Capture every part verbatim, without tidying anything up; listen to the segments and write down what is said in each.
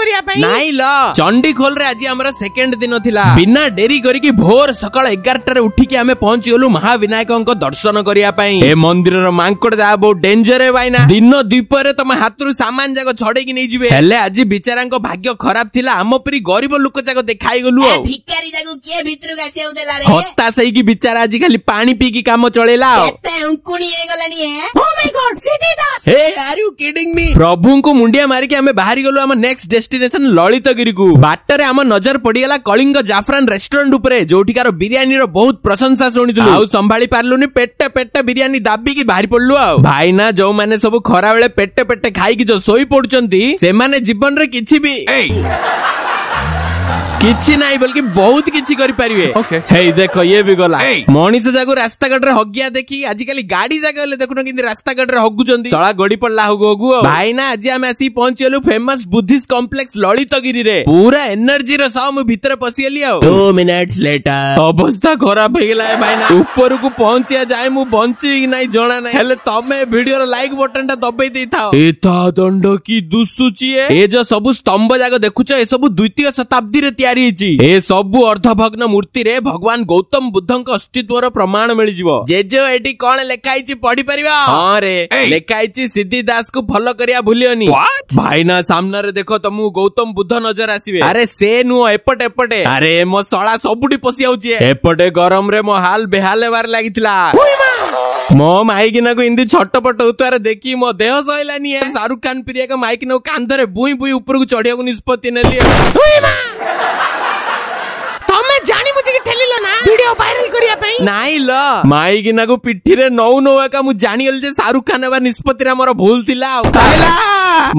କରିବା ପାଇଁ। ନାଇଁ ଲ, ଚଣ୍ଡିଖୋଲରେ ଆଜି ଆମର ସେକେଣ୍ଡ ଦିନ ଥିଲା। ବିନା ଡେରି କରିକି ଭୋର ସକାଳ ଏଗାରଟାରେ ଉଠିକି ଆମେ ପହଞ୍ଚିଗଲୁ ମହାବିନାୟକଙ୍କ ଦର୍ଶନ କରିବା ପାଇଁ। ଏ ମନ୍ଦିରର ମାଙ୍କଡ ଯାହା ବହୁତ ଡେଞ୍ଜର ହେ ଭାଇନା, ଦିନ ଦ୍ୱିପହରେ ତମ ହାତରୁ ସାମାନ ଯାକ ଛଡେଇକି ନେଇଯିବେ। ହେଲେ ଆଜି ବିଚାରାଙ୍କ ଭାଗ୍ୟ ଖରାପ ଥିଲା, ଆମ ପରି ଗରିବ ଲୋକ ଯାକ ଦେଖା ହେଇଗଲୁ। ଆଉ ଭିକାରୀ ଯାକୁ କିଏ ଭିତରକୁ ଆସିବାକୁ ଦେଲା ରେ? ହତାଶ ହେଇକି ବିଚାରା ଆଜି ଖାଲି ପାଣି ପିଇକି କାମ ଚଳେଇଲା। ଆଉ କେତେ ଉଙ୍କୁଣି ହେଇଗଲାଣି ହେ। Oh my God, Siddhi Das! Hey, are you kidding me? ପ୍ରଭୁଙ୍କୁ ମୁଣ୍ଡିଆ ମାରିକି ଆମେ ବାହାରି ଗଲୁ ଆମ ନେକ୍ସଟ ଡେଷ୍ଟିନେସନ ଲଳିତଗିରିକୁ। ବାଟରେ ଆମ ନଜର ପଡିଗଲା କଳିଙ୍ଗ ଜାଫରାନ ରେଷ୍ଟୁରାଣ୍ଟ ଉପରେ, ଯୋଉଠିକାର ବିରିୟାନୀର ବହୁତ ପ୍ରଶଂସା ଶୁଣିଥିଲୁ। ଆଉ ସମ୍ଭାଳି ପାରିଲୁନି, ପେଟେ ପେଟେ ବିରିୟାନୀ ଦାବିକି ବାହାରି ପଡିଲୁ। ଆଉ ଭାଇନା, ଯୋଉମାନେ ସବୁ ଖରାବେଳେ ପେଟେ ପେଟେ ଖାଇକି ଯୋଉ ଶୋଇ ପଡୁଛନ୍ତି, ସେମାନେ ଜୀବନରେ କିଛି ବି କିଛି ନାହିଁ ବୋଲିକି ବହୁତ କିଛି କରିପାରିବେ। ହେଇ ଦେଖ, ଇଏ ବି ଗଲା। ମଣିଷ ଯାକୁ ରାସ୍ତାଘାଟରେ ହଗିଆ ଦେଖି ଆଜିକାଲି ଗାଡି ଯାକ ହେଲେ ଦେଖୁନ କେମିତି ରାସ୍ତାଘାଟରେ ହଗୁଛନ୍ତି। ଶଳା ଗଡି ପଡିଲା ହଗୁ ହଗୁ। ଆଉ ଭାଇନା, ଆଜି ଆମେ ଆସିକି ପହଞ୍ଚିଗଲୁ ଫେମସ ବୁଦ୍ଧିଷ୍ଟ କମ୍ପ୍ଲେକ୍ସ ଲଳିତଗିରିରେ। ପୁରା ଏନର୍ଜିର ସହ ମୁଁ ଭିତରେ ପଶିଗଲି। ଆଉ ଟୁ ମିନିଟ୍ସ ଲେଟର ଅବସ୍ଥା ଖରାପ ହେଇଗଲା ଏ ଭାଇନା। ଉପରକୁ ପହଞ୍ଚିବା ଯାଏ ମୁଁ ବଞ୍ଚିବି କି ନାଇଁ ଜଣା ନାହିଁ, ହେଲେ ତମେ ଭିଡିଓର ଲାଇକ୍ ବଟନ ଟା ଦବେଇ ଦେଇଥାଅ। ଏ ତା ଦଣ୍ଡ କି ଦୁସୁଛି ଏ। ଏ ଯୋଉ ସବୁ ସ୍ତମ୍ଭ ଯାକ ଦେଖୁଛ, ଏ ସବୁ ଦ୍ୱିତୀୟ ଶତାବ୍ଦୀରେ ତିଆରି ହେଇଛି। ଏ ସବୁ ଅର୍ଦ୍ଧଭଗ୍ନ ମୂର୍ତ୍ତିରେ ଭଗବାନ ଗୌତମ ବୁଦ୍ଧଙ୍କ ଅସ୍ତିତ୍ୱର ପ୍ରମାଣ ମିଳିଯିବ। ଜେଜେ, ଏଠି କଣ ଲେଖା ହେଇଛି ପଢି ପାରିବ? ହଁ ରେ, ଲେଖା ହେଇଛି ସିଦ୍ଧି ଦାସକୁ ଫଲୋ କରିବା ଭୁଲିବନି। ଭାଇନା, ସାମ୍ନାରେ ଦେଖ, ତମକୁ ଗୌତମ ବୁଦ୍ଧ ନଜର ଆସିବେ। ଆରେ ସେ ନୁହଁ, ଏପଟେ ଏପଟେ। ଆରେ ମୋ ଶଳା ସବୁଠି ପଶି ଯାଉଛି। ଏପଟେ ଗରମରେ ମୋ ହାଲ ବେହାଲ ହେବାରେ ଲାଗିଥିଲା। ମୋ ମାଇକିନାକୁ ଏମିତି ଛଟପଟ ହଉଥିବାର ଦେଖି ମୋ ଦେହ ସହିଲାନି। ଶାହରୁଖ ଖାନ ପିରିୟାକ ମାଇକିନାକୁ କାନ୍ଧରେ ବୁଇଁ ବୁଇଁ ଉପରକୁ ଚଢିବାକୁ ନିଷ୍ପତ୍ତି ନେଲି। ତମେ ଜାଣି ବୁଝିକି ଠେଲିଲ ନା ଭିଡିଓ ଭାଇରାଲ କରିବା ପାଇଁ? ନାଇଁ ଲ, ମାଇକିନାକୁ ପିଠିରେ ନଉ ନଉ ଏକା ମୁଁ ଜାଣିଗଲି ଯେ ଶାହରୁଖ ଖାନ ହେବା ନିଷ୍ପତ୍ତିରେ ଆମର ଭୁଲ ଥିଲା। ଆଉ ତାଇଲା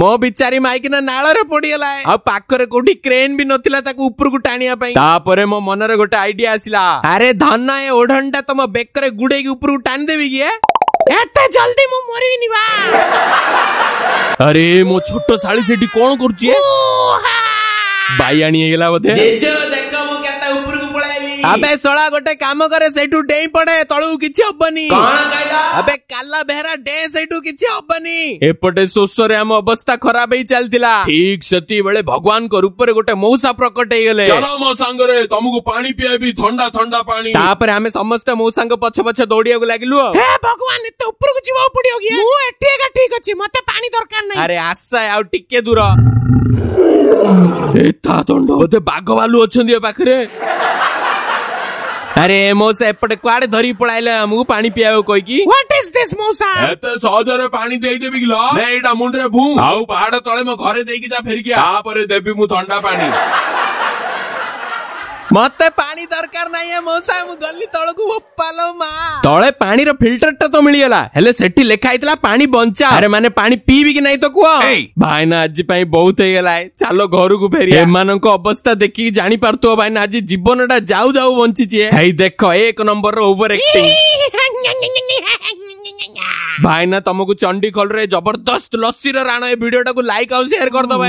ମୋ ବିଚାରୀ ମାଇକିନା ନାଳରେ ପଡିଗଲା, ଆଉ ପାଖରେ କୋଉଠି କ୍ରେନ ବି ନଥିଲା ତାକୁ ଉପରକୁ ଟାଣିବା ପାଇଁ। ତାପରେ ମୋ ମନରେ ଗୋଟେ ଆଇଡିଆ ଆସିଲା। ଆରେ ଧନ, ଏ ଓଢଣଟା ତମ ବେକରେ ଗୁଡେଇକି ଉପରକୁ ଟାଣିଦେବି କି? ଏ? ଏତେ ଜଲ୍ଦି ମୁଁ ମରିବିନି ବା। ଆରେ ମୋ ଛୋଟ ଶାଳୀ ସେଠି କଣ କରୁଛି ଏ? ବାଇଆଣି ହେଇଗଲା ବୋଧେ। ଦେଖ, ମୁଁ କେତେ ଉପରକୁ ପଳେଇଲି। ଆବେ ଶଳା, ଗୋଟେ କାମ କରେ, ସେଇଠୁ ଡେଇଁ ପଡେ ତଳକୁ, କିଛି ହବନି। ଆବେ କାଲା ବେହେରା, ଡେ ସେଇଠୁ, କିଛି ହବନି। ଏପଟେ ଶୋଷରେ ଆମ ଅବସ୍ଥା ଖରାପ ହେଇ ଚାଲିଥିଲା। ଠିକ ସେତିକିବେଳେ ଭଗବାନଙ୍କ ରୂପରେ ଗୋଟେ ମଉସା ପ୍ରକଟ ହେଇଗଲେ। ଚାଲ ମୋ ସାଙ୍ଗରେ, ତମକୁ ପାଣି ପିଆଇବି, ଥଣ୍ଡା ଥଣ୍ଡା ପାଣି। ତାପରେ ଆମେ ସମସ୍ତେ ମଉସାଙ୍କ ପଛେ ପଛେ ଦୌଡିବାକୁ ଲାଗିଲୁ। ଆଉ ହେ ଭଗବାନ, ଏତେ ଉପରକୁ ଯିବାକୁ ପଡିବ କି? ମୁଁ ଏଠି ଏକା ଠିକ ଅଛି, ମତେ ପାଣି ଦରକାର ନାହିଁ। ଆରେ ଆଶା, ଆଉ ଟିକେ ଦୂର। ଏ ତା ଦଣ୍ଡ, ବୋଧେ ବାଘ ଭାଲୁ ଅଛନ୍ତି ଏ ପାଖରେ। ଆରେ ମଉସା, ଏପଟେ କୁଆଡେ ଧରିକି ପଳାଇଲେ ଆମକୁ ପାଣି ପିଇବାକୁ କହିକି? What is this ମଉସା? ଏତେ ସହଜରେ ପାଣି ଦେଇଦେବି କି ଲ? ନେ, ଏଇଟା ମୁଣ୍ଡରେ ଭୁଁ, ଆଉ ପାହାଡ ତଳେ ମୋ ଘରେ ଦେଇକି ଯା ଫେରିକି ଆ। ତାପରେ ଦେବି ମୁଁ ଥଣ୍ଡା ପାଣି। ମତେ ପାଣି ଦରକାର ନାହିଁ ଏ ମଉସା, ମୁଁ ଗଲି ତଳକୁ। ବୋପାଲୋ ମା, ତଳେ ପାଣିର ଫିଲ୍ଟର ଟା ତ ମିଳିଗଲା, ହେଲେ ସେଠି ଲେଖା ହେଇଥିଲା ପାଣି ବଞ୍ଚା। ଆରେ ମାନେ ପାଣି ପିଇବି କି ନାଇଁ ତ କୁହ। ଭାଇନା, ଆଜି ପାଇଁ ବହୁତ ହେଇଗଲା, ଚାଲ ଘରକୁ ଫେରି। ଏମାନଙ୍କ ଅବସ୍ଥା ଦେଖିକି ଜାଣିପାରୁଥିବ ଭାଇନା, ଆଜି ଜୀବନ ଟା ଯାଉ ଯାଉ ବଞ୍ଚିଛି। ହେଇ ଦେଖ, ଏକ ନମ୍ବର ଓଭର ଆକ୍ଟିଂ। ଭାଇନା, ତମକୁ ଚଣ୍ଡିଖୋଲରେ ଜବରଦସ୍ତ ଲସିର ରାଣ ଏ ଭିଡିଓଟାକୁ ଲାଇକ୍ ଆଉ ସେୟାର କରିଦବ।